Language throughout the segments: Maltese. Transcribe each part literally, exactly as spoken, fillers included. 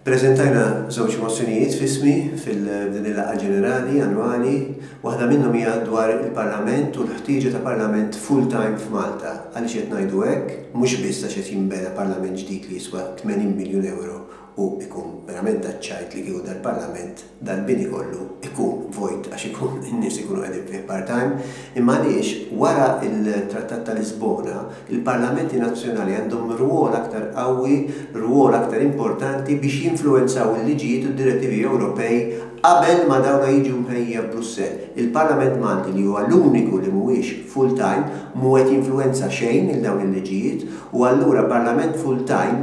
Preżentajna żewġ mozzjonijiet f'ismi fil-din il-laqgħa ġenerali annwali, waħda minnhom hija dwar il-Parlament u l-ħtieġa ta' Parlament full-time f'Malta. Għaliex qed ngħidu hekk? Mhux biss għax qed jinbena Parlament ġdid li jiswa tmenin miljun euro u ikun verament taċ-ċajt li kieku dal-Parlament, dal-bini kollu ikun vojt għax ikun in-nies ikunu qegħdin fih part-time, imma għaliex wara il-Trattat ta' Lisbona il-Parlamenti Nazzjonali għandhom rwol aktar qawwi, rwol aktar importanti biex jinfluwenzaw il-liġijiet u d-direttivi Ewropej qabel ma dawna jiġu mħejja Brussell. Il-Parlament Malti, li huwa l-uniku li mhuwiex full-time, mhu qed jinfluwenza xejn il dawn il-liġijiet, u allura Parlament full-time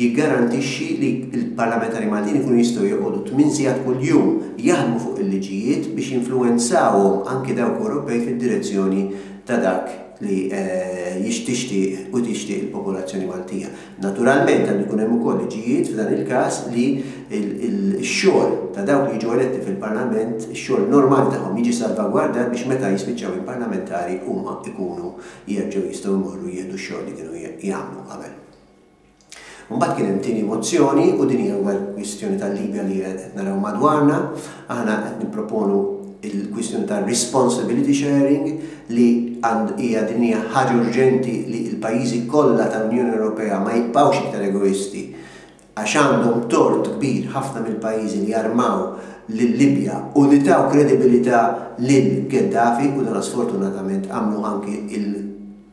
jiggarantixxi li l-parlamentari Maltin ikunu jistgħu joqogħdu tmien sigħat kuljum jaħdmu fuq il-liġijiet biex jinfluwenzawhom, anki dawk Ewropej, fid-direzzjoni ta' dak li jixtixtieq u tixtieq il-popolazzjoni Maltija. Naturalment għandu jkun hemm ukoll liġijiet f'dan il-każ li x-xogħol ta' dawk li jiġu eletti fil-Parlament, ix-xogħol normali tagħhom jiġi salvagwardat biex meta jispiċċaw il-parlamentari huma ikunu jerġgħu jistgħu jmorru jieħdu x-xogħol li kienu jagħmlu qabel. Mbagħad kien hemm tieni mozzjoni, u din hija l kwistjoni tal-Libja li qed naraw madwarna. Aħna qed nipproponu il-kwistjoni ta' responsibility sharing, li hija din hija ħaġa urġenti li l-pajjiżi kollha tal-Unjoni Ewropea ma jibqgħux iktar egoisti, għax għandhom tort kbir ħafna mill-pajjiżi li jarmaw lil-Libja u li taw kredibilità lil Gaddafi, u dan sfortunatament għamlu anki il-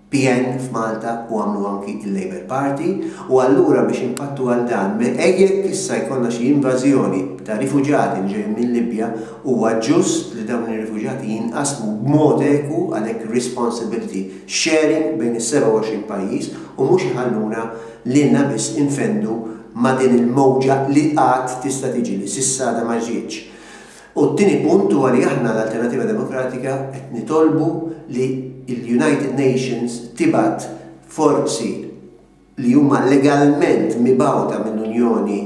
P N f'Malta u għamlu anki il-Labour Party. U allura biex impattu għal dan, jekk issa jkollna xi invażjoni ta' rifuġati li ġejjin minn Libja, huwa ġust li dawn ir-rifuġati jinqasmu b'mod eku, għalhekk responsibility sharing bejn is-sebgħa u għoxrin pajjiż, u mhux iħalluna lilna biss infendu ma' din il-mowġa li qatt tista' tiġi, li s'issa għadha ma ġietx. U t-tieni punt huwa li aħna l-Alternativa Demokratika qed nitolbu li il-United Nations tibgħat forzi li huma legalment mibgħuta mill-Unjoni,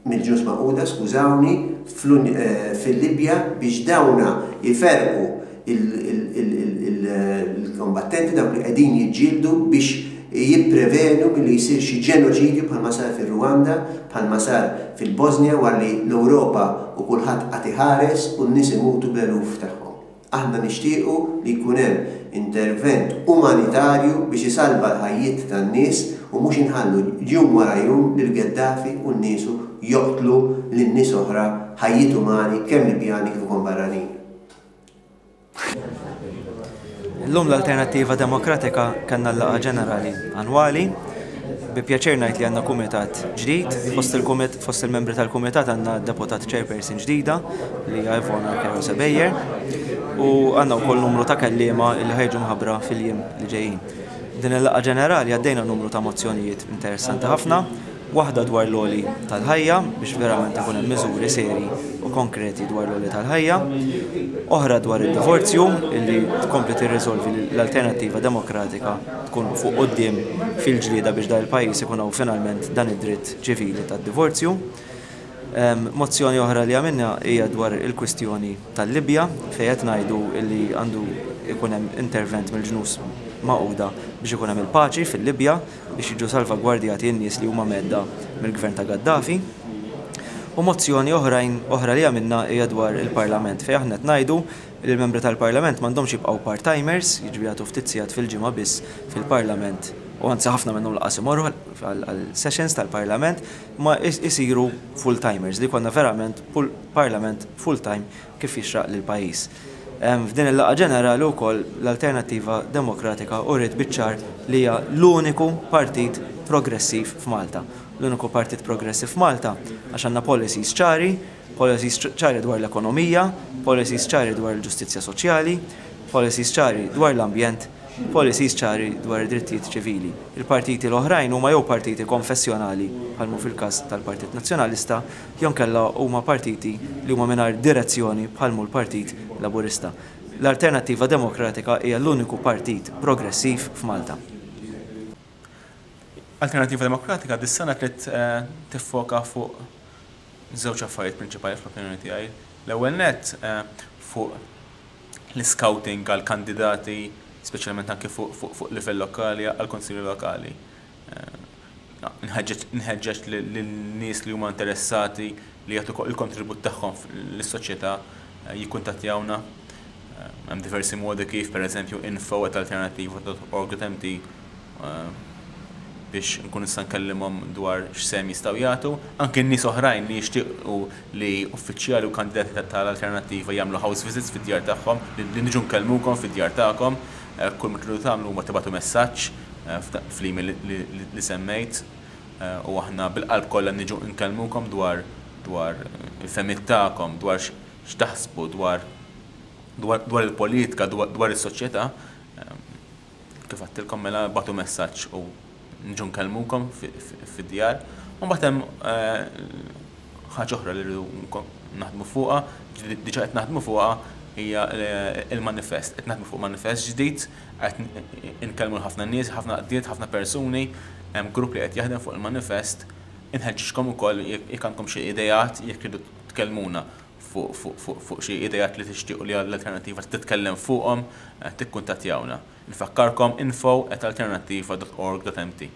mill-Ġnus Magħquda, skużawni, fil-Libja biex dawna jiferqu il-kombattenti, dawk li qegħdin jiġġieldu, biex jipprevenu milli jsir xi ġenoċidju bħalma sar fil-Rwanda, bħalma sar fil-Bosnia, wara li l-Ewropa u kulħadd qagħad iħares u n-nies imutu b'eluf tagħhom. Aħna nixtiequ li jkun hemm intervent umanitarju biex isalva l-ħajjiet tan-nies u mhux inħallu jum wara jum lil Gaddafi u n-niesu joqtlu lin nies oħra, ħajjiet umani, kemm Libjani kif ukoll barranin. Illum l-Alternattiva Demokratika kellna l-laqgħa ġenerali annwali. Bi pjaċir ngħid li għandna kumitat ġdid, fost il-kumit fost il-membri tal-kumitat għandna deputat chairperson ġdida li hija Ivona Kerosa Bejer u għandna wkoll numru ta' kelliema li ħa jiġu mħabbra fil-jiem li ġejjin. Din il-laqgħa ġenerali għaddejna numru ta' mozzjonijiet interessanti ħafna, waħda dwar l-għoli tal-ħajja, biex verament ikun hemm miżuri seri u konkreti dwar l-għoli tal-ħajja, oħra dwar id-divorzju, illi tkompli tirriżolvi l-Alternattiva Demokratika tkun fuq quddiem fil-ġlieda biex dan il-pajjiż ikun hawn finalment dan id-dritt ċivili tad-divorzju. Mozzjoni oħra li għamilna hija dwar il-kwistjoni tal-Libja, fejn qed ngħidu illi għandu ikun hemm intervent mill-Ġnus Magħquda biex ikun hemm il-paċi fil-Libja, biex jiġu salvagwardjati n-nies li huma mhedda mill-gvern ta' Gaddafi. U mozzjoni oħrajn oħra li għamilna hija dwar il-Parlament, fejn aħna qed ngħidu li l-membri tal-Parlament m'għandhomx jibqgħu part-timers, jiġifieri jagħtu ftit sigħat fil-ġimgħa biss fil-Parlament, u anzi ħafna minnhom lanqas imorru għal sessions tal-Parlament, ma isiru full-timers, li konna verament Parlament full-time kif jixraq lill-pajjiż. F'din il-laqgħa ġenerali wkoll l-Alternattiva Demokratika uriet biċ-ċar li hija l-uniku partit progressiv f'Malta. L-uniku partit progressiv f'Malta għax għandna policies ċari, policies ċari dwar l-ekonomija, policies ċari dwar il-ġustizzja soċjali, policies ċari dwar l-ambjent, policies ċari dwar id-drittijiet ċivili. Il-partiti l-oħrajn huma jew partiti konfessjonali, bħalmu fil-każ tal-Partit Nazzjonalista, jew inkella huma partiti li huma mingħajr direzzjoni, bħalmu l-Partit Laburista. L-Alternattiva Demokratika hija l-uniku partit progressiv f'Malta. Alternativa Demokratika dis-sena trid eh, tiffoka fuq żewġ affarijiet prinċipali fl-opinjoni tiegħi. L-ewwel nett eh, fuq l-scouting għal kandidati, speċjalment anke fuq fuq livell lokali, għal konsilji lokali. Eh, Nħeġġeġ lin-nies li huma interessati li jagħtu il-kontribut tagħhom lis-soċjetà jikkuntattjawna. Hemm diversi modi kif, pereżempju info at alternattiva dot org dot M T, biex nkun nista' nkellimhom dwar x'sehem jistgħu jagħtu. Anke n-nies oħrajn li jixtiequ li uffiċjali u kandidati tal-Alternattiva jagħmlu house visits fid-djar tagħhom, li niġu nkellmukom fid-djar tagħkom, kull ma tridu tagħmlu huma tibagħtu messaġġ fl-email li semmejt u aħna bil-qalb kollha niġu nkellmukom dwar dwar il-fehmiet tagħkom, dwar x'taħsbu dwar dwar il-politika, dwar is-soċjetà. Kif għedtilkom, mela ibagħtu messaġġ u niġu nkellmukom fid-djar. U mbagħad hemm ħaġa oħra li rridu naħdmu fuqha, diġà qed naħdmu fuqha, hija il-manifest. Qed naħdmu fuq manifest ġdid, qed inkellmu ħafna nies, ħafna għaqdiet, ħafna persuni, hemm grupp li qed jaħdem fuq il-manifest. Inħeġġiġkom ukoll, jekk għandkom xi idejat, jekk tridu tkellmuna fuq xi idejat li tixtiequ li l-Alternattiva titkellem fuqhom, tikkuntattjawna. Nfakkarkom, info at alternattiva dot org dot M T.